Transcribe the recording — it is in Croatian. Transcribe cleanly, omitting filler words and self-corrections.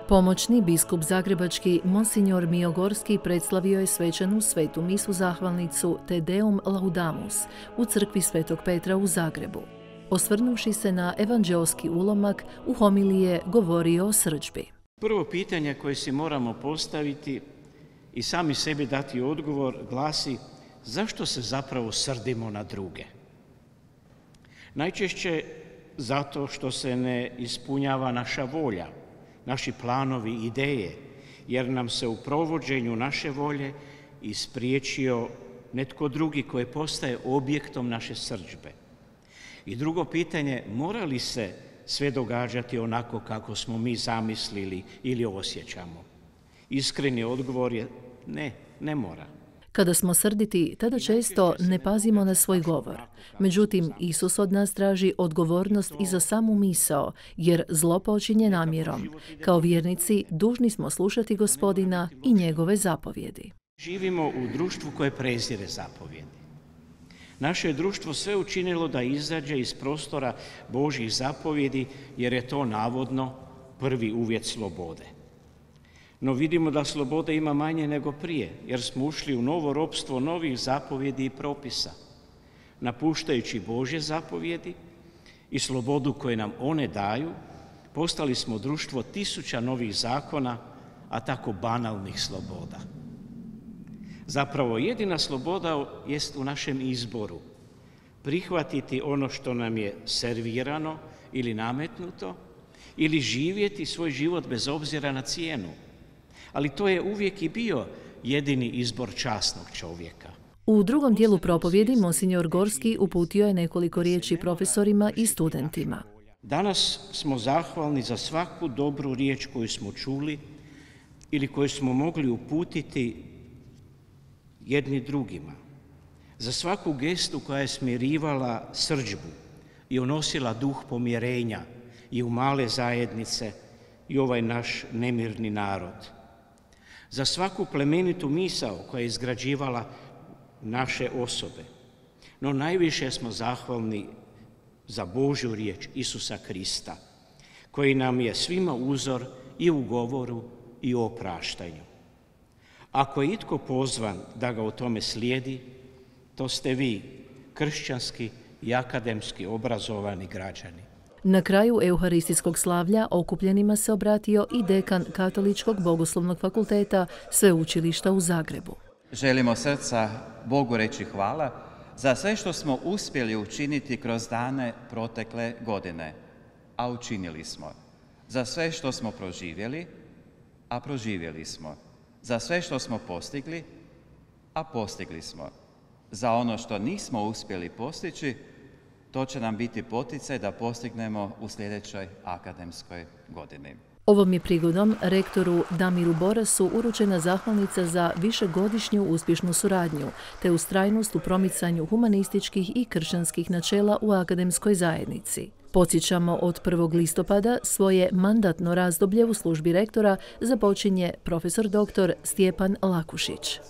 Pomoćni biskup zagrebački Monsignor Miogorski predstavio je svečanu svetu misu zahvalnicu Te Deum Laudamus u crkvi Svetog Petra u Zagrebu. Osvrnuvši se na evanđeoski ulomak, u homiliji je govorio o srdžbi. Prvo pitanje koje si moramo postaviti i sami sebi dati odgovor glasi: zašto se zapravo srdimo na druge? Najčešće zato što se ne ispunjava naša volja, naši planovi, ideje, jer nam se u provođenju naše volje ispriječio netko drugi koji postaje objektom naše srdžbe. I drugo pitanje, mora li se sve događati onako kako smo mi zamislili ili osjećamo? Iskreni odgovor je ne, ne mora. Kada smo srditi, tada često ne pazimo na svoj govor. Međutim, Isus od nas traži odgovornost i za samu misao, jer zlo počinje namjerom. Kao vjernici, dužni smo slušati Gospodina i njegove zapovjedi. Živimo u društvu koje prezire zapovjedi. Naše je društvo sve učinilo da izađe iz prostora Božjih zapovjedi, jer je to navodno prvi uvjet slobode. No vidimo da slobode ima manje nego prije, jer smo ušli u novo ropstvo novih zapovjedi i propisa. Napuštajući Božje zapovjedi i slobodu koje nam one daju, postali smo društvo tisuća novih zakona, a tako banalnih sloboda. Zapravo jedina sloboda jest u našem izboru. Prihvatiti ono što nam je servirano ili nametnuto, ili živjeti svoj život bez obzira na cijenu. Ali to je uvijek i bio jedini izbor časnog čovjeka. U drugom dijelu propovjedi Monsignor Gorski uputio je nekoliko riječi profesorima i studentima. Danas smo zahvalni za svaku dobru riječ koju smo čuli ili koju smo mogli uputiti jedni drugima. Za svaku gestu koja je smirivala srdžbu i unosila duh pomirenja i u male zajednice i ovaj naš nemirni narod. Za svaku plemenitu misao koja je izgrađivala naše osobe. No najviše smo zahvalni za Božju riječ Isusa Krista, koji nam je svima uzor i u govoru i u opraštanju. Ako je itko pozvan da ga u tome slijedi, to ste vi, kršćanski i akademski obrazovani građani. Na kraju euharistijskog slavlja okupljenima se obratio i dekan Katoličkog bogoslovnog fakulteta Sveučilišta u Zagrebu. Želimo srca Bogu reći hvala za sve što smo uspjeli učiniti kroz dane protekle godine, a učinili smo. Za sve što smo proživjeli, a proživjeli smo. Za sve što smo postigli, a postigli smo. Za ono što nismo uspjeli postići, to će nam biti poticaj da postignemo u sljedećoj akademskoj godini. Ovom je prigodom rektoru Damiru Borasu uručena zahvalnica za višegodišnju uspješnu suradnju te ustrajnost u promicanju humanističkih i kršćanskih načela u akademskoj zajednici. Podsjećamo, od 1. listopada svoje mandatno razdoblje u službi rektora započinje profesor dr. Stjepan Lakušić.